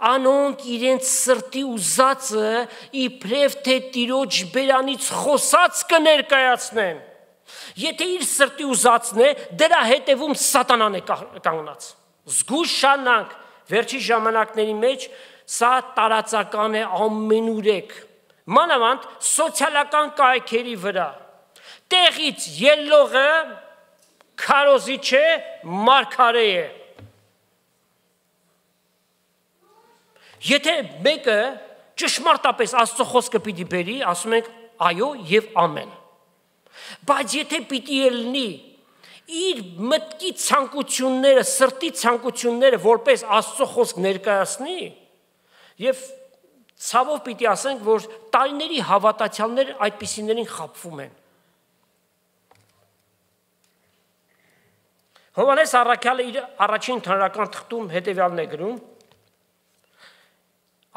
Անոնք իրենց սրտի ուզածը իբրև թե Տիրոջ բերանից խոսած կներկայացնեն։ Եթե իր սրտի ուզածն է, դրա հետևում սատանան է կանգնած։ Զգուշանանք, վերջի ժամանակների մեջ սա տարածական է ամենուրեք, մանավանդ սոցիալական կայքերի վրա։ Տեղից ելնողը քարոզիչ է, մարգարե է։ Եթե մեկը ճշմարտապես Աստծո խոսքը պիտի բերի, ասում ենք այո եւ ամեն։ Բայց եթե պիտի ելնի իր մտքի ցանկությունները, սրտի ցանկությունները որպես Աստծո խոսք ներկայացնի, եւ ցավով պիտի ասենք, որ տարիների հավատացյալներ այդպիսիներին խաբվում են։ Հովհաննես առաքյալը իր առաջին թարական թղթում հետևյալն է գրում.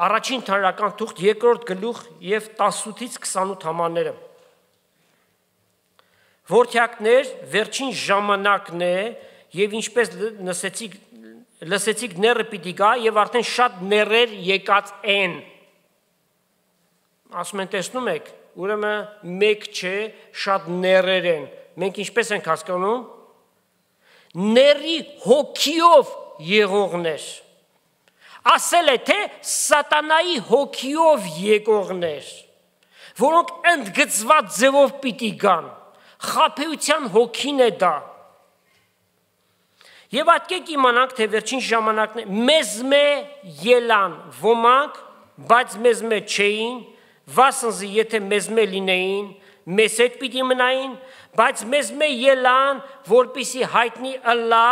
Առաջին թարական թուղթ 2-րդ գլուխ եւ 18-ից 28 համարները։ Որդյակներ, վերջին ժամանակն է եւ ինչպես լսեցիք ները պիտի գա եւ արդեն շատ ներեր եկած են։ Ասում են, տեսնում եք, ուրեմն մեկ չէ, շատ ներեր են։ Մենք ինչպես ենք հասկանում։ Ների հոգիով եղողներ։ Ասել է, թե սատանայի հոգիով եկողներ, որոնք ընդգծված ձևով պիտի գան, խաբեության հոգին է դա։ Եվ ատկեք իմանանք, թե վերջին ժամանակն է, մեզմե ելան ոմանք, բայց մեզմե չէին, վասնզի եթե մեզմե լինեին, մեզ հետ պիտի մնային, բայց մեզմե ելան, որպիսի հայտնի ըլլա,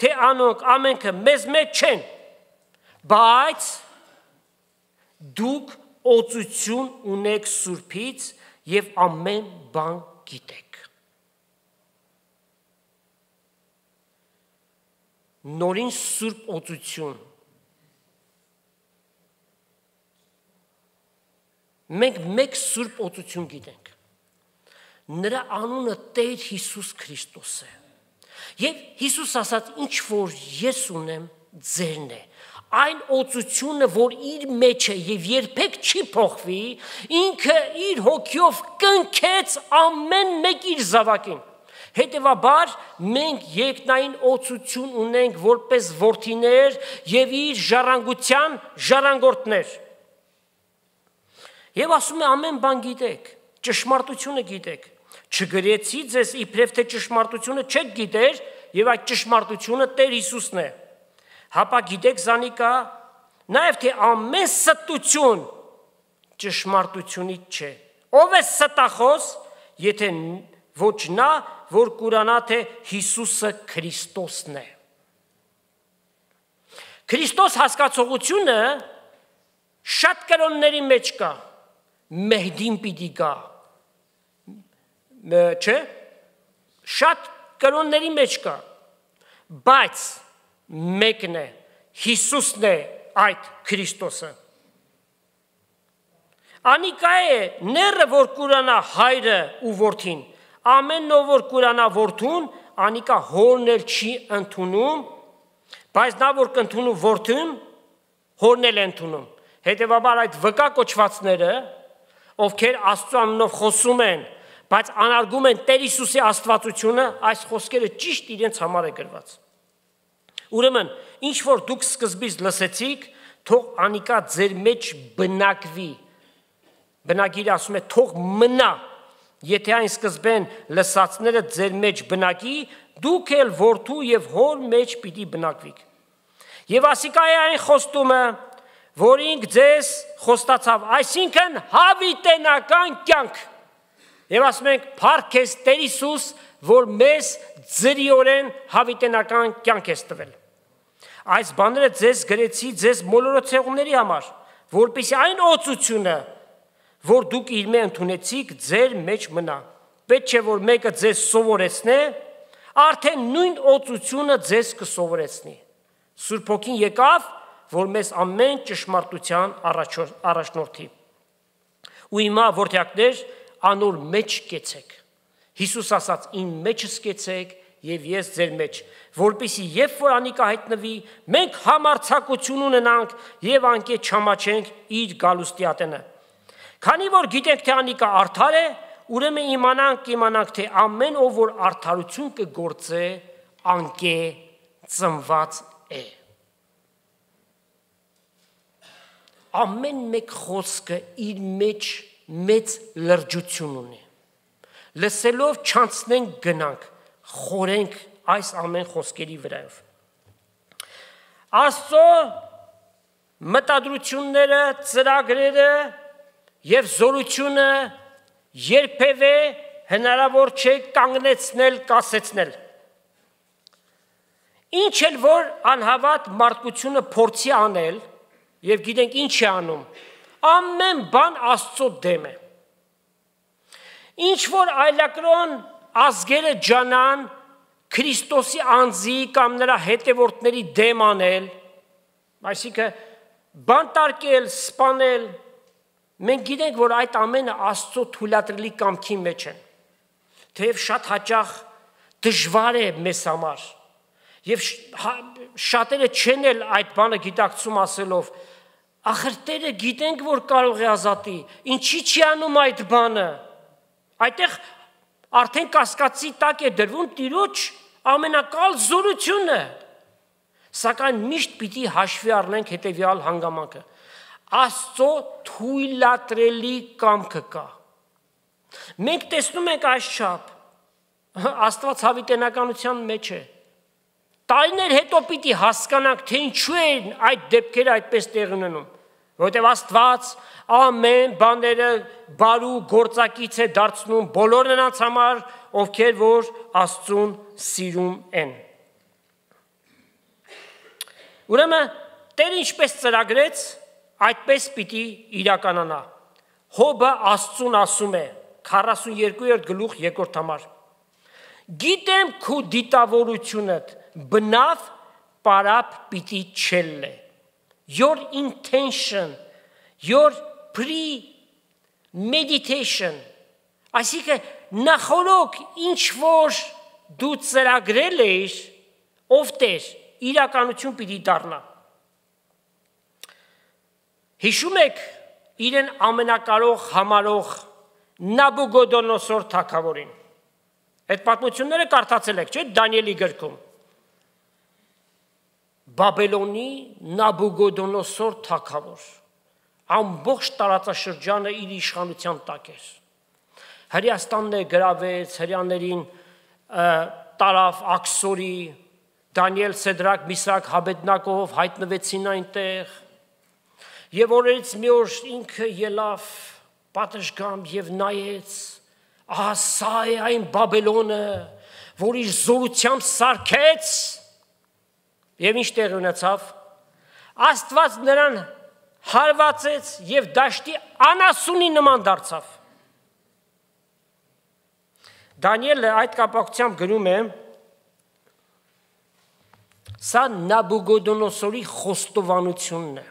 թե անոնք ամենքը մեզմե չեն, բայց դուք օծություն ունեք Սուրբից եւ ամեն բան գիտեք։ Նորին Սուրբ օծություն։ Մենք մեկ Սուրբ օծություն գիտենք։ Նրա անունը Տեր Հիսուս Քրիստոս է։ Եվ Հիսուս ասաց, ինչ որ ես ունեմ, ձերն է։ Այն օծությունը, որ իր մեջ է եւ երբեք չի փոխվի, ինքը իր հոգիով կնքեց ամեն մեկ իր զավակին։ Հետևաբար մենք երկնային օծություն ունենք որպես որդիներ եւ իր ժառանգության ժառանգորդներ։ Եվ ասում է ամեն բան գիտեք, ճշմարտությունը գիտեք։ Չգրեցի ձեզ իբրև թե ճշմարտությունը չեք գիտեր եւ այդ ճշմարտությունը Տեր Հիսուսն է։ Հապա գիտեք զանիկա, նաև թե ամեն ստություն ճշմարտությունից չէ։ Ով է ստախոս, եթե ոչ նա, որ կուրանա, թե Հիսուսը Քրիստոսն է։ Քրիստոս հասկացողությունը շատ կրոնների մեջ կա, Մեհդին պիտի գա, չէ, շատ կրոնների մեջ կա, բայց մեկն է, Հիսուսն է այդ Քրիստոսը։ Անիկա է ները, որ կուրանա հայրը ու որդին, ամեն նով, որ կուրանա որդուն, անիկա հորն էլ չի ընդունում, բայց նա, որ կընդունում որդուն, հորն էլ ընդունում։ Հետևաբար այդ վկա կոչվածները, ովքեր Աստծո անունով խոսում են, բայց անարգում են Տեր Հիսուսի աստվածությունը, այս խոսքերը ճիշտ իրենց համար է գրված։ Ուրեմն, ինչ որ դուք սկզբից լսեցիք, թող անիկա ձեր մեջ բնակվի։ Բնագիրը ասում է թող մնա, եթե այն սկզբեն լսածները ձեր մեջ բնակի, դուք էլ որդու եւ հոր մեջ պիտի բնակվիք։ Եվ ասիկա է այն խոստումը, որ ինք ձեզ խոստացավ, այսինքն հավիտենական կյանք։ Եվ ասում ենք, փառք ես Տեր Հիսուս, որ մեզ ձրիորեն հավիտենական կյանք ես տվել։ Այս բաները ձեզ գրեցի ձեզ մոլորոցեղումների համար, որպեսզի այն օծությունը, որ դուք իր մեջ ընդունեցիք, ձեր մեջ մնա։ Պետք չէ, որ մեկը ձեզ սովորեցնե, արդեն նույն օծությունը ձեզ կսովորեցնի։ Սուրբ Հոգին եկավ, որ մեզ ամեն ճշմարտության առաջնորդի։ Ու հիմա որդյակներ, անոր մեջ կեցեք Հիսուս ասաց. «Իմ մեջս կեցեք եւ ես ձեր մեջ, որպեսզի երբ որ անիկա հայտնվի, մենք համարձակություն ունենանք եւ անկետ չամաչենք իր գալուստի ատենը։ Քանի որ գիտենք թե անիկա արդար է, ուրեմն իմանանք թե ամեն ով որ արդարություն կգործե, անկե ծնված է»։ Ամեն մեկ խոսքը իր մեջ մեծ լրջություն ունի։ Լսելով չանցնենք գնանք, խորենք այս ամեն խոսքերի վրայով։ Աստծո մտադրությունները, ծրագրերը եւ զորությունը երբևէ հնարավոր չէ կանգնեցնել, կասեցնել։ Ինչ էլ որ անհավատ մարդկությունը փորձի անել, եւ գիտենք ինչ է անում, ամեն բան Աստծո դեմ է։ Ինչ որ այլակրոն ազգերը ջանան Քրիստոսի անձի կամ նրա հետևորդների դեմ անել, այսինքն բանտարկել, սպանել, մենք գիտենք, որ այդ ամենը Աստծո թույլատրելի կամքի մեջ են, թեև շատ հաճախ դժվար է մեզ համար, եւ շատերը չեն էլ այդ բանը գիտակցում ասելով, ախր Տերը գիտենք, որ կարող է ազատի, ինչի՞ չի անում այդ բանը, այդտեղ արդեն կասկածի տակ է դրվում Տիրոջ ամենակալ զորությունը, սակայն միշտ պիտի հաշվի առնենք հետևյալ հանգամանքը. Աստծո թույլատրելի կամքը կա։ Մենք տեսնում ենք այսչափ, Աստված հավիտենականության մեջ է։ Տարիներ հետո պիտի հասկանանք, թե ինչու են այդ դեպքերը այդպես տեղ ունենում, որովհետև Աստված ամեն բաները բարու գործակից է դարձնում բոլոր նրանց համար, ովքեր որ Աստծուն սիրում են։ Ուրեմն Տերը ինչպես ծրագրեց, այդպես պիտի իրականանա։ Հոբը Աստծուն ասում է 42-րդ գլուխ 2-րդ համար. Գիտեմ քո դիտավորությունդ բնավ պարապ պիտի չելլե։ Your intention, your premeditation, այսինքն նախորոք ինչ որ դու ծրագրել ես, ով Տեր, իրականություն պիտի դառնա։ Հիշում եք իրեն ամենակարող համարող Նաբուգոդոնոսոր թագավորին։ Այդ պատմությունները կարդացել եք, չէ՞, Դանիելի գրքում։ Բաբելոնի Նաբուգոդոնոսոր թագավոր ամբողջ տարածաշրջանը իր իշխանության տակ էր։ Հրեաստանն գրավեց, հրեաներին տարավ Աքսորի, Դանիել, Սեդրակ, Միսրակ, Հաբեդնակով հայտնվեցին այնտեղ։ Եվ օրերից մի օր ինքը ելավ պատշգամբ եւ նայեց, ահա սա է այն Բաբելոնը, որ իր զորությամբ սարքեց։ Եվ ինչ տեղի ունեցավ, Աստված նրան հարվածեց եւ դաշտի անասունի նման դարձավ։ Դանիելը այդ կապակցությամբ գրում է. Սա Նաբուգոդոնոսորի խոստովանությունն է։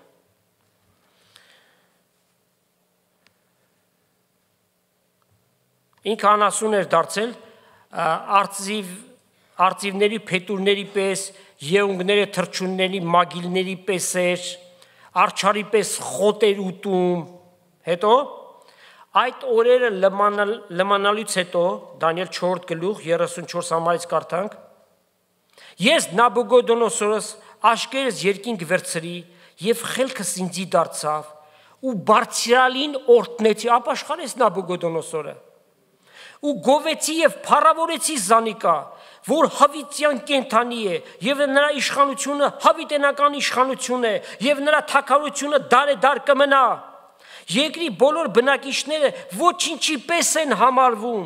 Ինքը անասուն էր դարձել, արծիվների փետուրների պես, եղունգները թրջունների մագիլների պես էր, արջարի պես խոտ էր ուտում, հետո այդ օրերը լմանալուց հետո, Դանիել 4 գլուխ 34 համարից կարդանք, ես Նաբուգոդոնոսորս աշկերս երկինք վերցրի եւ խելքս ինձի դարձավ ու բարձրալին օրհնեցի, ապաշխարեց Նաբուգոդոնոսորը ու գովեցի եւ փառավորեցի Զանիկա, որ հավիտյան կենթանի է եւ նրա իշխանությունը հավիտենական իշխանություն է եւ նրա թագավորությունը դարեդար կմնա։ Երկրի բոլոր բնակիչները ոչինչի պես են համարվում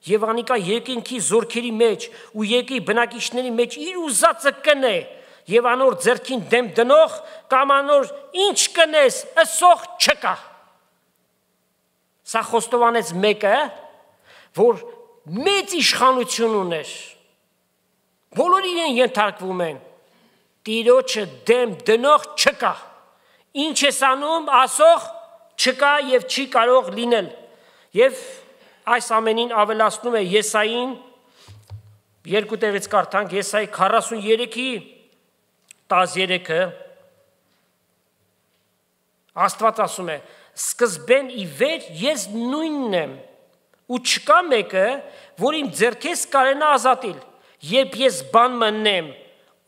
եւ անիկա երկինքի զորքերի մեջ ու երկրի բնակիչների մեջ իր ուզածը կնե եւ անոր ձեռքին դեմ դնող կամ անոր ինչ կնես ըսող չկա։ Սա խոստովանեց մեկը, որ մեծ իշխանություն ուներ, բոլոր իրեն ենթարկվում են, Տիրոջը դեմ դնող չկա, ինչ ես անում ասող չկա եւ չի կարող լինել։ Եվ այս ամենին ավելացնում է Եսային, երկու տեղից կարդանք, Եսայի 43-ի 13-ը, Աստված ասում է. սկզբեն ի վեր ես նույնն եմ, ու չկա մեկը, որ իմ ձեռքից կարենա ազատիլ, երբ ես բան մնեմ,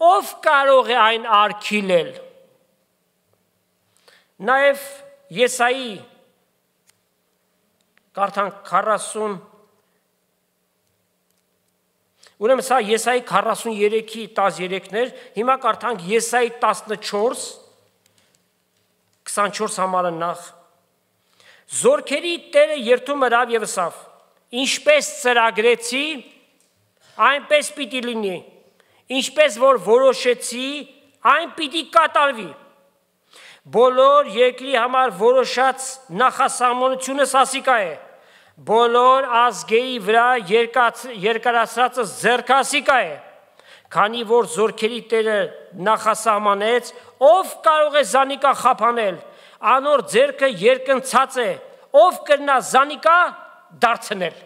ով կարող է այն արգիլել։ Նաև Եսայի կարդանք 40, ուրեմն սա Եսայի 43-ի 13-ներ, հիմա կարդանք Եսայի 14, 24 համարը նախ։ Զորքերի Տերը երթում հրավ և ասավ. ինչպես ծրագրեցի, այնպես պիտի լինի, ինչպես որ որոշեցի, այն պիտի կատարվի։ Բոլոր երկրի համար որոշած նախասահմանությունս ասիկա է, բոլոր ազգերի վրա երկարացրածը ձեռքասիկա է, քանի որ զորքերի Տերը նախասահմանեց, ով կարող է զանիկա խափանել, անոր ձեռքը երկնցած է, ով կրնա զանիկա դարձնել։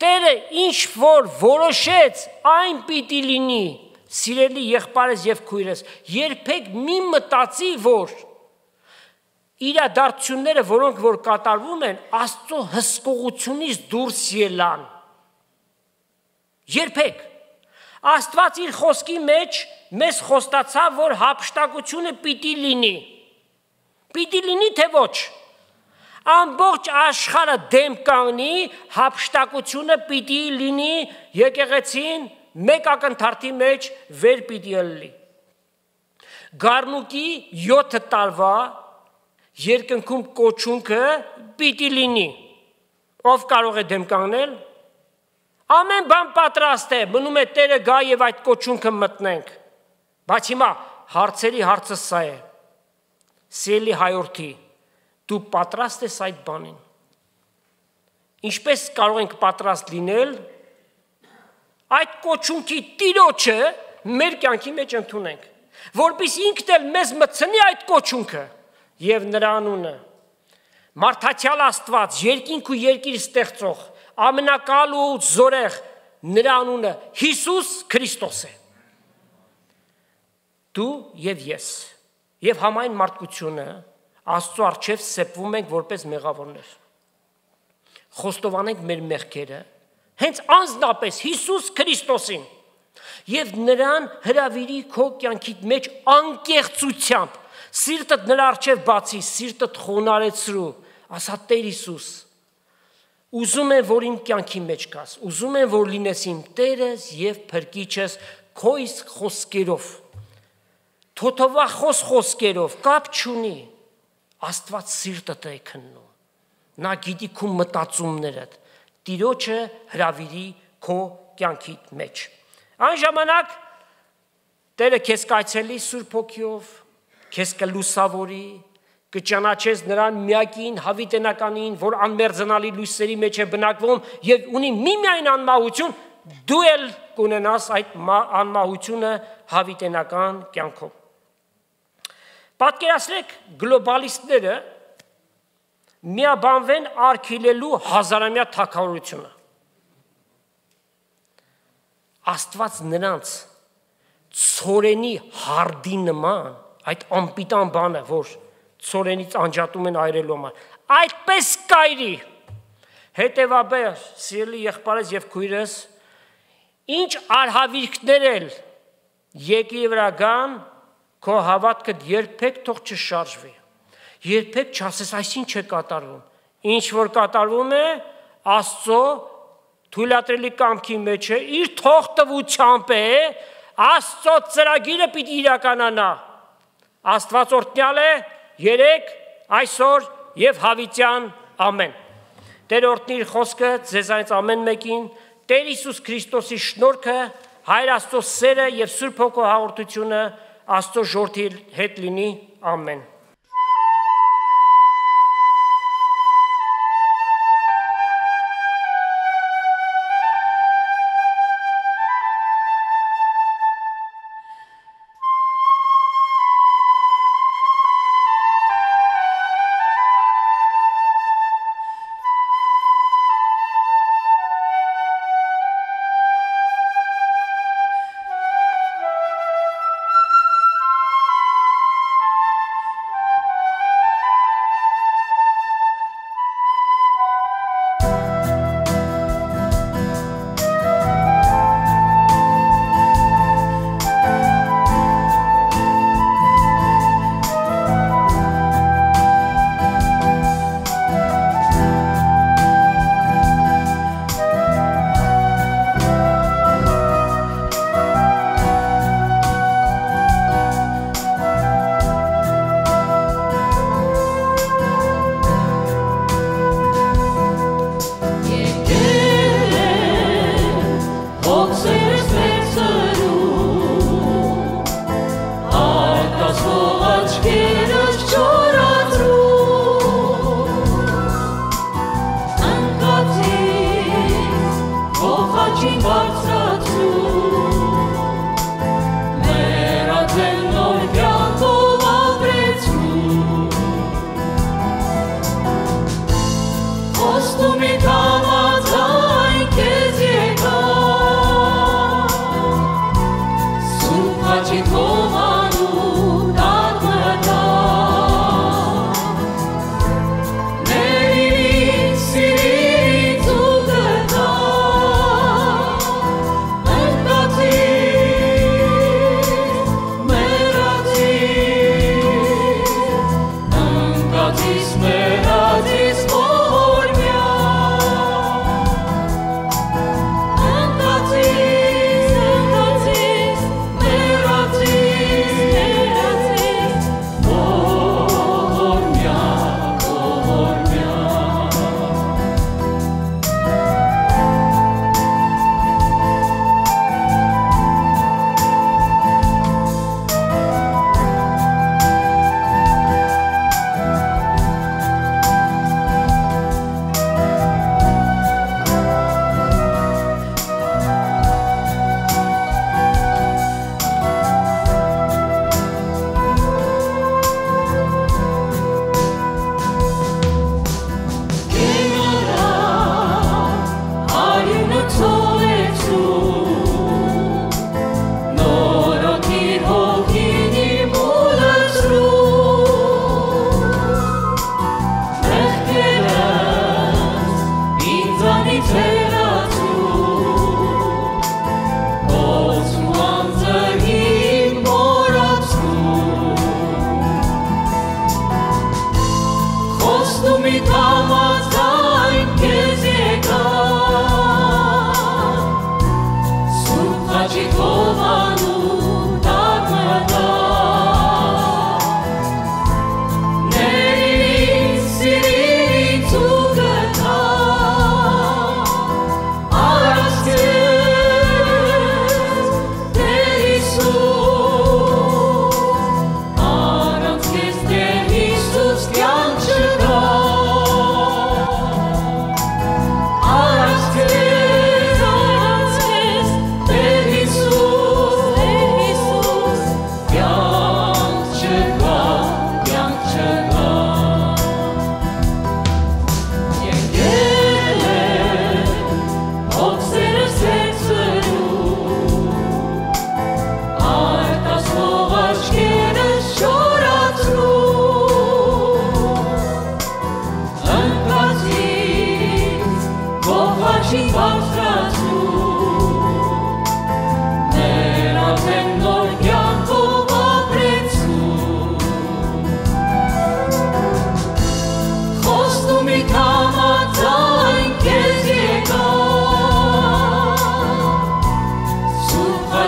Տերը ինչ որ որոշեց, այն պիտի լինի։ Սիրելի եղբայրս եւ քույրս, երբեք մի մտածի, որ իրադարձությունները, որոնք որ կատարվում են, Աստծո հսկողությունից դուրս ելան։ Երբեք Աստված իր խոսքի մեջ մեզ խոստացավ, որ հափշտակությունը պիտի լինի։ Պիտի լինի, թե ոչ։ Ամբողջ աշխարհը դեմ կանգնի, հափշտակությունը պիտի լինի, եկեղեցին մեկ ակնթարթի մեջ վեր պիտի ելնի։ Գառնուկի 7 տարվա երկնքում կոչունքը պիտի լինի։ Ով կարող է դեմ կանգնել։ Ամեն բան պատրաստ է, մնում է Տերը գա եւ այդ կոչունքը մտնենք։ Բայց հիմա հարցերի հարցը սա է. Սիրելի հայրենի, դու պատրաստ ես այդ բանին։ Ինչպես կարող ենք պատրաստ լինել այդ կոչունքի տիրոջը մեր կյանքի մեջ ընդունենք, որպեսզի ինքն էլ մեզ մտցնի այդ կոչունքը եւ նրա անունը։ Մարդատյալ Աստված, երկինք ու երկիր ստեղծող, ամենակալ ու զորեղ, նրա անունը Հիսուս Քրիստոս է։ Դու եւ ես եւ համայն մարդկությունը Աստծո առջև սեպվում ենք որպես մեղավորներ։ Խոստովանենք մեր մեղքերը, հենց անձնապես Հիսուս Քրիստոսին եւ նրան հրավիրի քո կյանքի մեջ անկեղծությամբ, սիրտդ նրա առջև բացի, սիրտդ խոնարհեցրու, ասա Տեր Հիսուս, ուզում եմ, որ իմ կյանքի մեջ գաս, ուզում եմ, որ լինես իմ Տերս եւ Փրկիչս քո իսկ խոսքերով, թոթովախոս խոսքերով, կապ չունի, Աստված սիրտդ է քննում, նա գիտի քո մտածումներդ, Տիրոջը հրավիրի քո կյանքի մեջ։ Այն ժամանակ Տերը քեզ կայցելի Սուրբ Հոգիով, քեզ կլուսավորի, կճանաչես նրան միակին հավիտենականին, որ անմերձանալի լույսերի մեջ է բնակվում եւ ունի միմիայն անմահություն, դու էլ կունենաս այդ անմահությունը հավիտենական կյանքով։ Պատկերացրեք գլոբալիստները միաբանվեն արգելելու հազարամյա թագավորությունը։ Աստված նրանց ցորենի հարդի նման, այդ անպիտան բանը, որ ցորենից անջատում են այրելու համար, այդպես կայրի։ Հետևաբար, սիրելի եղբայրս եւ քույրս, ինչ արհավիրքներ էլ երկրի վրա գան, քո հավատքը երբեք թող չշարժվի։ Երբեք չասես այսինչ է կատարվում։ Ինչ որ կատարվում է, Աստծո թույլատրելի կամքի մեջ է, իր թողտվությամբ է, Աստծո ծրագիրը պիտի իրականանա։ Աստված օրհնյալ է երեք, այսօր եւ հավիտյան ամեն։ Տեր օրհնի իր խոսքը ձեզանից ամեն մեկին, Տեր Հիսուս Քրիստոսի շնորհքը, Հայր Աստծո սերը եւ Սուրբ Հոգու հաղորդությունը Աստծո ժողովրդի հետ լինի, ամեն։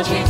Magic